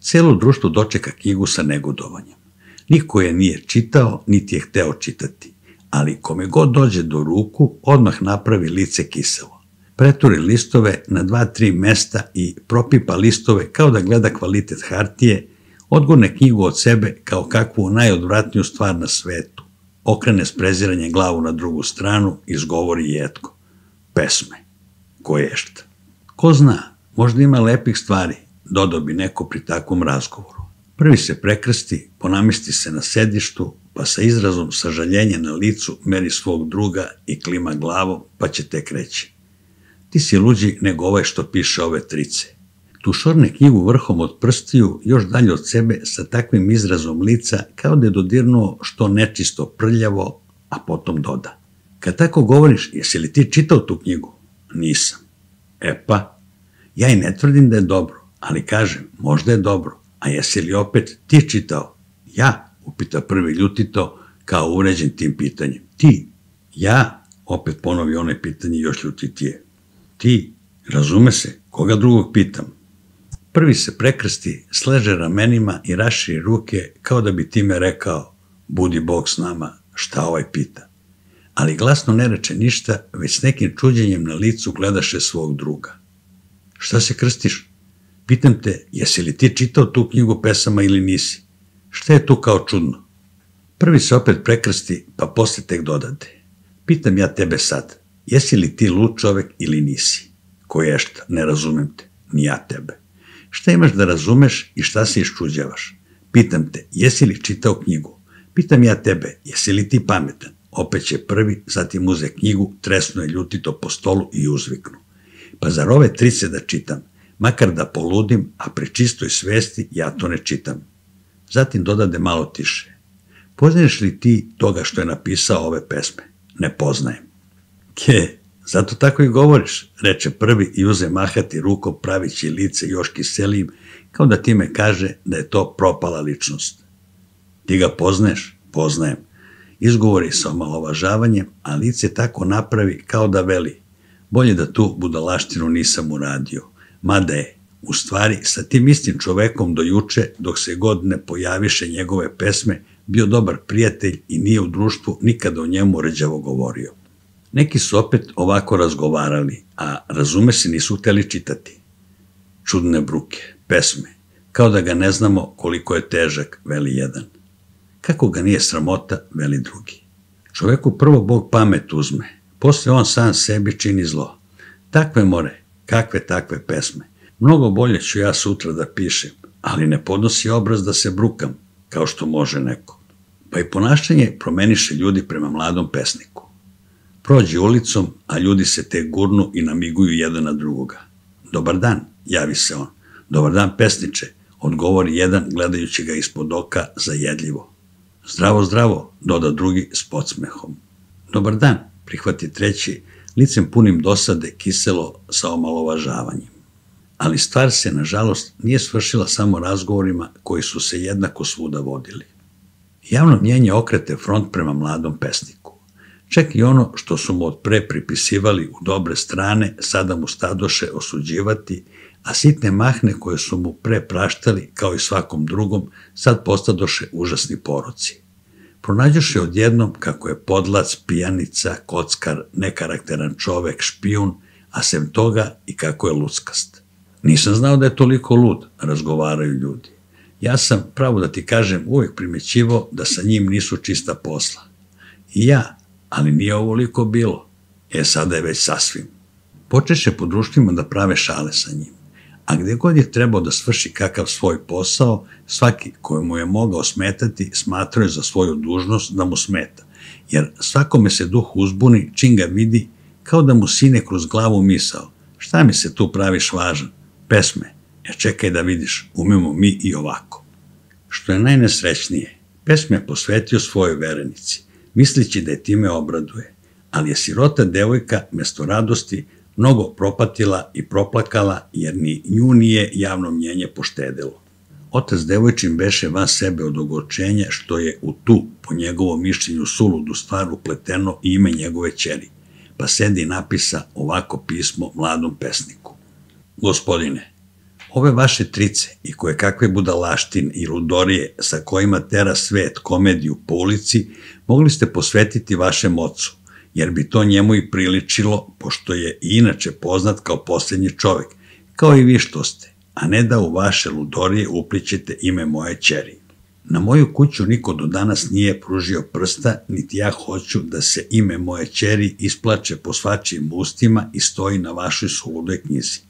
A: Celo društvo dočeka knjigu sa negodovanjem. Niko je nije čitao, niti je hteo čitati, ali kome god dođe do ruku, odmah napravi lice kiselo. Preturi listove na dva, tri mesta i propipa listove kao da gleda kvalitet hartije, odgurne knjigu od sebe kao kakvu najodvratniju stvar na svetu, okrene s preziranjem glavu na drugu stranu i izgovori jetko. Pesme. Koješta. Ko zna, možda ima lepih stvari, dodao bi neko pri takvom razgovoru. Prvi se prekrsti, ponamisti se na sedištu, pa sa izrazom sažaljenja na licu meri svog druga i klima glavom, pa će tek reći. Ti si luđi nego ovaj što piše ove trice. Tušorne knjigu vrhom od prstiju, još dalje od sebe, sa takvim izrazom lica, kao da je dodirnuo što nečisto prljavo, a potom doda. Kad tako govoriš, jesi li ti čitao tu knjigu? Nisam. E pa, ja i ne tvrdim da je dobro, ali kažem, možda je dobro, a jesi li opet ti čitao? Ja, upita prvi ljutito, kao uređen tim pitanjem. Ti? Ja? Opet ponovi onaj pitanje još ljutitije. Ti? Razume se, koga drugog pitam? Prvi se prekrsti, sleže ramenima i raširi ruke kao da bi time rekao, budi Bog s nama, šta ovaj pita. Ali glasno ne reče ništa, već s nekim čuđenjem na licu gledaše svog druga. Šta se krstiš? Pitam te, jesi li ti čitao tu knjigu pesama ili nisi? Šta je tu kao čudno? Prvi se opet prekrsti, pa posle tek dodade. Pitam ja tebe sad, jesi li ti lud čovek ili nisi? Koješta, ne razumem te, ni ja tebe. Šta imaš da razumeš i šta se iščuđavaš? Pitam te, jesi li čitao knjigu? Pitam ja tebe, jesi li ti pametan? Opet će prvi, zatim uze knjigu, tresno je ljutito po stolu i uzviknu. Pa zar ove trice da čitam? Makar da poludim, a pri čistoj svesti ja to ne čitam. Zatim dodade malo tiše. Poznaješ li ti toga što je napisao ove pesme? Ne poznajem. Ke, zato tako i govoriš, reče prvi i uze mahati rukom pravići lice još kiselijim, kao da time kaže da je to propala ličnost. Ti ga poznaješ? Poznajem. Izgovori sa omalovažavanjem, a lice tako napravi kao da veli. Bolje da tu budalaštinu nisam uradio. Mada je, u stvari, sa tim istim čovekom do juče, dok se god ne pojaviše njegove pesme, bio dobar prijatelj i nije u društvu nikada o njemu rđavo govorio. Neki su opet ovako razgovarali, a razume se nisu hteli čitati. Čudne bruke, pesme, kao da ga ne znamo koliko je težak, veli jedan. Kako ga nije sramota, veli drugi. Čoveku prvo Bog pamet uzme, posle on sam sebi čini zlo. Takve more, kakve takve pesme. Mnogo bolje ću ja sutra da pišem, ali ne podnosi obraz da se brukam, kao što može neko. Pa i ponašanje promeniše ljudi prema mladom pesniku. Prođi ulicom, a ljudi se te gurnu i namiguju jedan na drugoga. Dobar dan, javi se on. Dobar dan, pesniče, odgovori jedan gledajući ga ispod oka zajedljivo. Zdravo, zdravo, doda drugi s podsmehom. Dobar dan, prihvati treći, licem punim dosade, kiselo sa omalovažavanjem. Ali stvar se, nažalost, nije svršila samo razgovorima koji su se jednako svuda vodili. Javno mnjenje okrete front prema mladom pesniku. Čak i ono što su mu od pre pripisivali u dobre strane, sada mu stadoše osuđivati, a sitne mahne koje su mu pre praštali, kao i svakom drugom, sad postadoše užasni poroci. Pronađoše odjednom kako je podlac, pijanica, kockar, nekarakteran čovek, špijun, a sem toga i kako je luckast. Nisam znao da je toliko lud, razgovaraju ljudi. Ja sam, pravo da ti kažem, uvijek primećivao da sa njim nisu čista posla. I ja, ali nije ovoliko bilo. E, sada je već sasvim. Počeše po društvima da prave šale sa njim. A gde god je trebao da svrši kakav svoj posao, svaki koji mu je mogao smetati smatrao je za svoju dužnost da mu smeta, jer svakome se duh uzbuni čim ga vidi, kao da mu sine kroz glavu misao. Šta mi se tu praviš važan? Pesme. E čekaj da vidiš, umemo mi i ovako. Što je najnesrećnije, pesme je posvetio svojoj verenici, mislići da je time obraduje, ali je sirota devojka mesto radosti mnogo propatila i proplakala, jer ni nju nije javno mnjenje poštedelo. Otac devojčin beše van sebe od ogorčenja što je u tu, po njegovom mišljenju, suludu stvar upleteno ime njegove ćeri, pa sedi i napisa ovako pismo mladom pesniku. Gospodine, ove vaše trice i koje kakve budalaštine i ludorije sa kojima tera svet komediju po ulici mogli ste posvetiti vašem ocu, jer bi to njemu i priličilo, pošto je i inače poznat kao posljednji čovek, kao i vi što ste, a ne da u vaše ludorije uplićete ime moje ćeri. Na moju kuću niko do danas nije pružio prsta, niti ja hoću da se ime moje ćeri isplače po svačijim ustima i stoji na vašoj suludoj knjizi.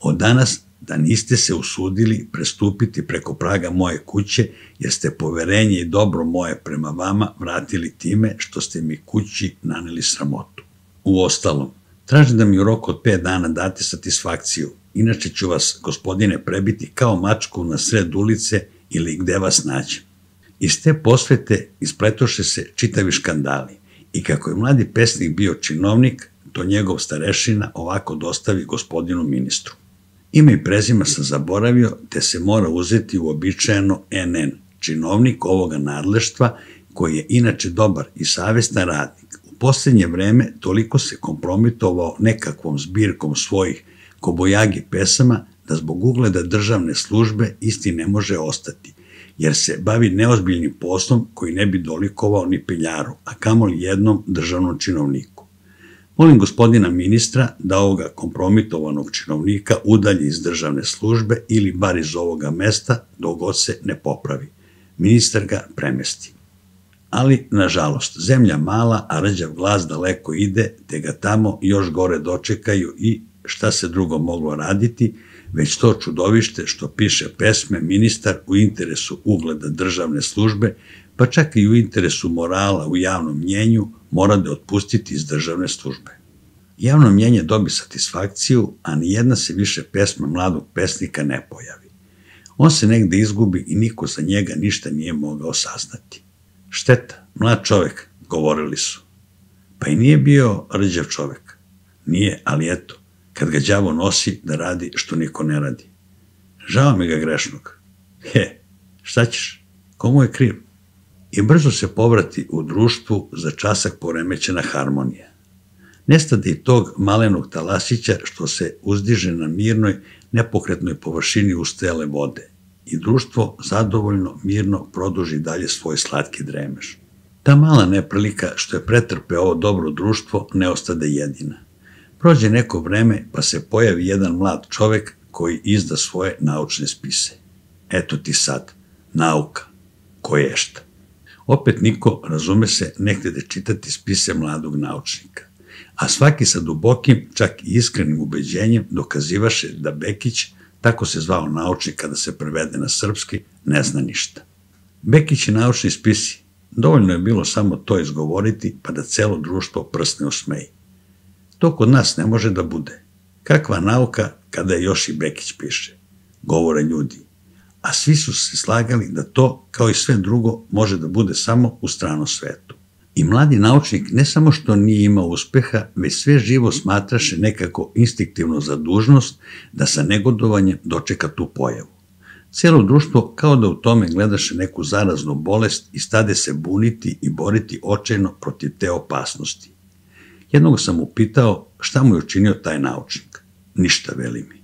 A: Od danas da niste se usudili prestupiti preko praga moje kuće, jer ste poverenje i dobro moje prema vama vratili time što ste mi kući naneli sramotu. Uostalom, tražim da mi u roku od pet dana date satisfakciju, inače ću vas, gospodine, prebiti kao mačku na sred ulice ili gde vas nađem. Iz te posvete ispletoše se čitavi škandali i kako je mladi pesnik bio činovnik, to njegov starešina ovako dostavi gospodinu ministru. Ime i prezima sam zaboravio, te se mora uzeti uobičajeno en en, činovnik ovoga nadleštva, koji je inače dobar i savestan radnik. U poslednje vreme toliko se kompromitovao nekakvom zbirkom svojih kobojagi pesama da zbog ugleda državne službe isti ne može ostati, jer se bavi neozbiljnim poslom koji ne bi dolikovao ni peljaru, a kamoli jednom državnom činovniku. Molim gospodina ministra da ovoga kompromitovanog činovnika udalji iz državne službe ili bar iz ovoga mesta dok god se ne popravi. Ministar ga premesti. Ali, nažalost, zemlja mala, a rđav glas daleko ide, te ga tamo još gore dočekaju i šta se drugo moglo raditi, već to čudovište što piše pesme ministar u interesu ugleda državne službe, pa čak i u interesu morala u javnom mnjenju, mora da otpustiti iz državne službe. Javno mnjenje dobi satisfakciju, a nijedna se više pesma mladog pesnika ne pojavi. On se negde izgubi i niko za njega ništa nije mogao saznati. Šteta, mlad čovek, govorili su. Pa i nije bio rđav čovek. Nije, ali eto, kad ga đavo nosi da radi što niko ne radi. Žao mi ga grešnog. He, šta ćeš? Komu je kriv? I brzo se povrati u društvu za časak poremećena harmonija. Nestade i tog malenog talasića što se uzdiže na mirnoj, nepokretnoj površini ustajale vode i društvo zadovoljno, mirno produži dalje svoj slatki dremež. Ta mala neprilika što je pretrpe ovo dobro društvo ne ostade jedina. Prođe neko vreme pa se pojavi jedan mlad čovek koji izda svoje naučne spise. Eto ti sad, nauka, koješta. Opet niko, razume se, ne htede čitati spise mladog naučnika, a svaki sa dubokim, čak i iskrenim ubeđenjem dokazivaše da Bekić, tako se zvao naučnik kada se prevede na srpski, ne zna ništa. Bekić i naučni spisi, dovoljno je bilo samo to izgovoriti pa da celo društvo prsne usmeji. To kod nas ne može da bude. Kakva nauka kada je još i Bekić piše, govore ljudi. A svi su se slagali da to, kao i sve drugo, može da bude samo u stranom svetu. I mladi naučnik ne samo što nije imao uspeha, već sve živo smatraše nekako instinktivno za dužnost da sa negodovanjem dočeka tu pojavu. Cijelo društvo kao da u tome gledaše neku zaraznu bolest i stade se buniti i boriti očajno protiv te opasnosti. Jednog sam upitao šta mu je učinio taj naučnik. Ništa, veli mi.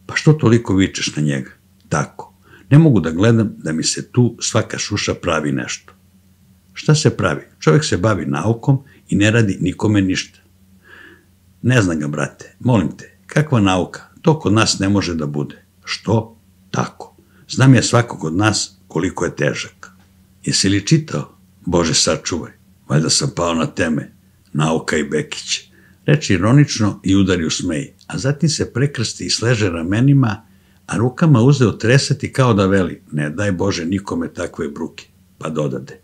A: Pa što toliko vičeš na njega? Tako. Ne mogu da gledam da mi se tu svaka šuša pravi nešto. Šta se pravi? Čovjek se bavi naukom i ne radi nikome ništa. Ne znam ga, brate, molim te, kakva nauka? To kod nas ne može da bude. Što? Tako. Znam ja svakog od nas koliko je težak. Jesi li čitao? Bože, sačuvaj. Valjda sam pao na teme. Nauka i Bekić. Reči ironično i udari u smej, a zatim se prekrsti i sleže ramenima, a rukama uzeo tresati kao da veli, ne daj Bože nikome takve bruke, pa dodade.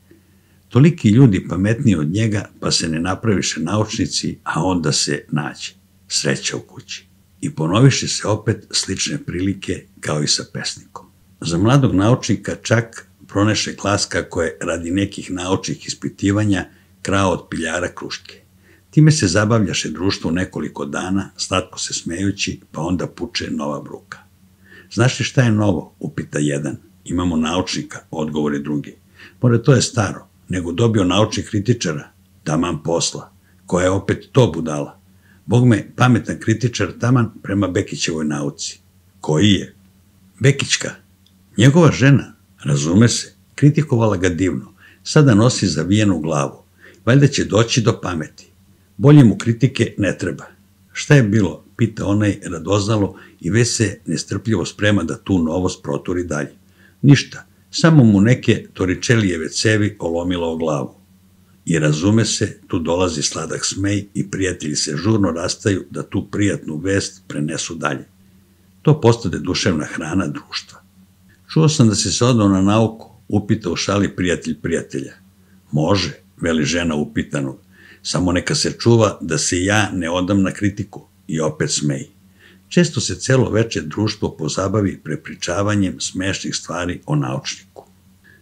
A: Toliki ljudi pametniji od njega, pa se ne napraviše naučnici, a onda se nađe. Sreća u kući. I ponoviše se opet slične prilike kao i sa pesnikom. Za mladog naučnika čak proneše glas kako je radi nekih naučnih ispitivanja krao od piljara kruške. Time se zabavljaše društvo nekoliko dana, slatko se smejući, pa onda puče nova bruka. Znaš li šta je novo? Upita jedan. Imamo naučnika, odgovori drugi. More, to je staro, nego dobio naučnih kritičara. Taman posla. Koja je opet to budala? Bog me, pametan kritičar taman prema Bekićevoj nauci. Koji je? Bekićka. Njegova žena, razume se, kritikovala ga divno. Sada nosi zavijenu glavu. Valjda će doći do pameti. Bolje mu kritike ne treba. Šta je bilo? Pita onaj radoznalo i već se nestrpljivo sprema da tu novost proturi dalje. Ništa, samo mu neke toričelijeve cevi olomilo o glavu. I razume se, tu dolazi sladak smej i prijatelji se žurno rastaju da tu prijatnu vest prenesu dalje. To postade duševna hrana društva. Čuo sam da si se odao na nauku, upita u šali prijatelj prijatelja. Može, veli žena upitanog, samo neka se čuva da se ja ne odam na kritiku. I opet smeji. Često se celo veče društvo pozabavi prepričavanjem smešnih stvari o naučniku.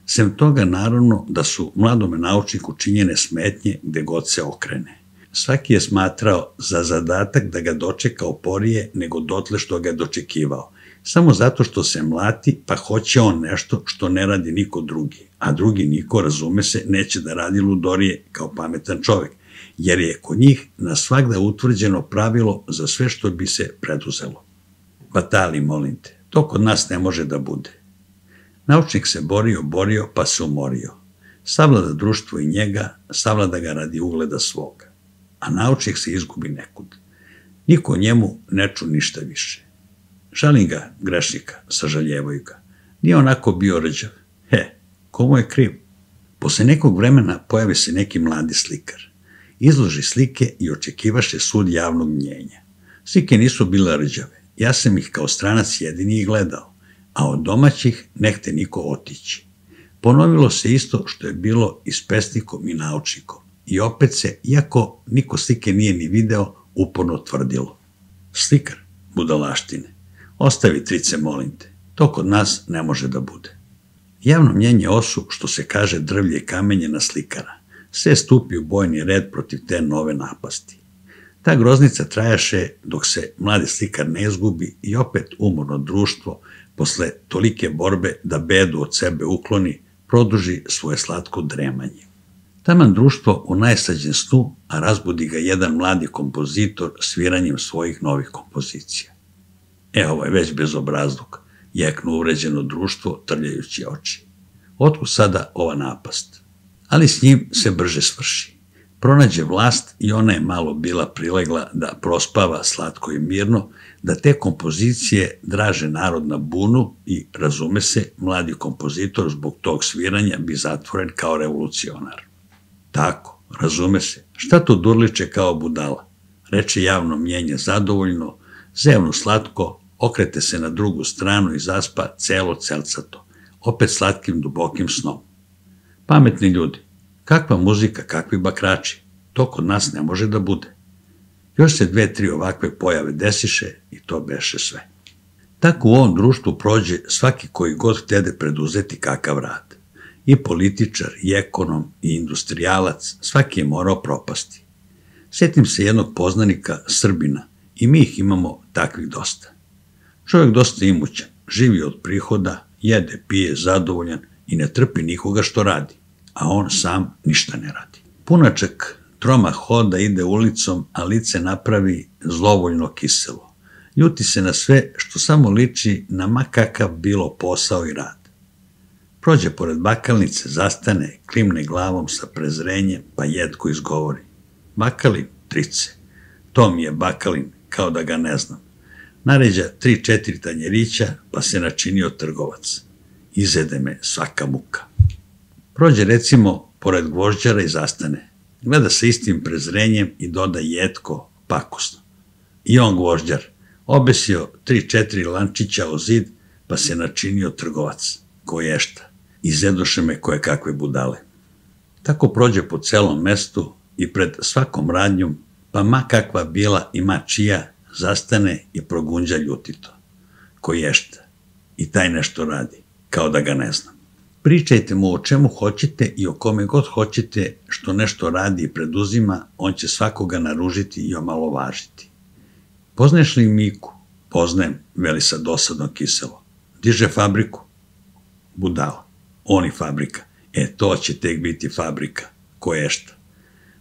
A: Sem toga, naravno, da su mladome naučniku činjene smetnje gde god se okrene. Svaki je smatrao za zadatak da ga dočeka oporije nego dotle što ga je dočekivao, samo zato što se mlati pa hoće on nešto što ne radi niko drugi, a drugi niko, razume se, neće da radi ludorije kao pametan čovek, jer je kod njih na svagda utvrđeno pravilo za sve što bi se preduzelo. Batali, molim te, to kod nas ne može da bude. Naučnik se borio, borio, pa se umorio. Savlada društvo i njega, savlada ga radi ugleda svoga. A naučnik se izgubi nekud. Niko njemu ne ču ništa više. Žalim ga, grešnika, sažaljevaju ga. Nije onako bio rđav. He, komu je kriv? Posle nekog vremena pojavi se neki mladi slikar. Izloži slike i očekivaše sud javnog mnjenja. Slike nisu bile rđave. Ja sam ih kao stranac jedini i gledao, a od domaćih nehte niko otići. Ponovilo se isto što je bilo i s pesnikom i naučnikom. I opet se, iako niko slike nije ni video, uporno tvrdilo. Slikar, budalaštine, ostavi trice, molim te, to kod nas ne može da bude. Javno mnjenje osu, što se kaže drvlje i kamenje na slikara, sve stupi u bojni red protiv te nove napasti. Ta groznica trajaše dok se mladi slikar ne izgubi i opet umorno društvo, posle tolike borbe da bedu od sebe ukloni, produži svoje slatko dremanje. Taman društvo u najslađem snu, a razbudi ga jedan mladi kompozitor sviranjem svojih novih kompozicija. E, ovo je već bezobrazluk, jeknu uvređeno društvo trljajući oči. Otkud sada ova napast? Ali s njim se brže svrši. Pronađe vlast i ona je malo bila prilegla da prospava slatko i mirno, da te kompozicije draže narod na bunu i, razume se, mladi kompozitor zbog tog sviranja bi zatvoren kao revolucionar. Tako, razume se, šta to durliče kao budala? Reče javno mnjenje zadovoljno, zevnu slatko, okrete se na drugu stranu i zaspa celo celcato, opet slatkim dubokim snom. Pametni ljudi, kakva muzika, kakvi bakrači, to kod nas ne može da bude. Još se dve, tri ovakve pojave desiše i to beše sve. Tako u ovom društvu prođe svaki koji god htede preduzeti kakav rad. I političar, i ekonom, i industrijalac, svaki je morao propasti. Sjetim se jednog poznanika, Srbina, i mi ih imamo takvih dosta. Čovjek dosta imućan, živi od prihoda, jede, pije, zadovoljan i ne trpi nikoga što radi, a on sam ništa ne radi. Punačak troma hoda, ide ulicom, a lice napravi zlovoljno kiselo. Ljuti se na sve što samo liči na ma kakav bilo posao i rad. Prođe pored bakalnice, zastane, klimne glavom sa prezrenjem, pa jetko izgovori. Bakalin, trice. To mi je bakalin, kao da ga ne znam. Naređa tri, četiri tanjerića, pa se načinio trgovac. Izede me svaka muka. Prođe recimo pored gvožđara i zastane. Gleda sa istim prezrenjem i doda jetko, pakosno. I on gvožđar, obesio tri, četiri lančića o zid, pa se načinio trgovac. Koješta. Izedoše me koje kakve budale. Tako prođe po celom mestu i pred svakom radnjom, pa ma kakva bila i ma čija, zastane i progunđa ljutito. Koješta. I taj nešto radi, kao da ga ne znam. Pričajte mu o čemu hoćete i o kome god hoćete što nešto radi i preduzima, on će svakoga naružiti i omalovažiti. Poznaješ li Miku? Poznajem, veli sa dosadno kiselo. Diže fabriku? Budala. On i fabrika. E, to će tek biti fabrika. Koješta.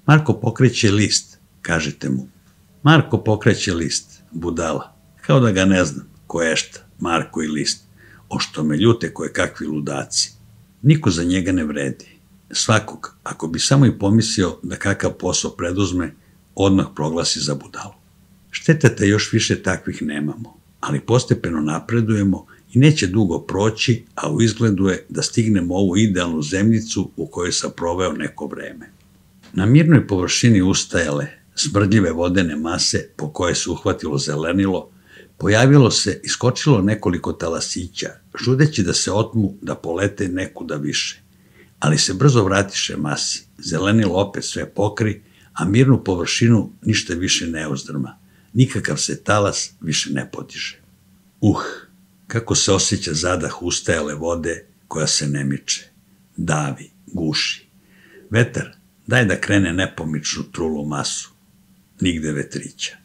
A: Marko pokreće list, kažete mu. Marko pokreće list. Budala. Kao da ga ne znam. Koješta. Marko i list. O što me ljute koje kakvi ludaci. Niko za njega ne vredi. Svakog, ako bi samo i pomislio da kakav posao preduzme, odmah proglasi za budalu. Šteta da još više takvih nemamo, ali postepeno napredujemo i neće dugo proći, a u izgledu je da stignemo ovu idealnu zemljicu u kojoj sam proveo neko vreme. Na mirnoj površini ustajale, smrdljive vodene mase po koje se uhvatilo zelenilo, pojavilo se i skočilo nekoliko talasića, žudeći da se otmu da polete nekuda više. Ali se brzo vratiše masi, zelenilo opet sve pokri, a mirnu površinu ništa više ne uzdrma. Nikakav se talas više ne podiže. Uh, kako se osjeća zadah ustajale vode koja se ne miče, davi, guši. Vetar, daj da krene nepomičnu trulu masu. Nigde vetrića.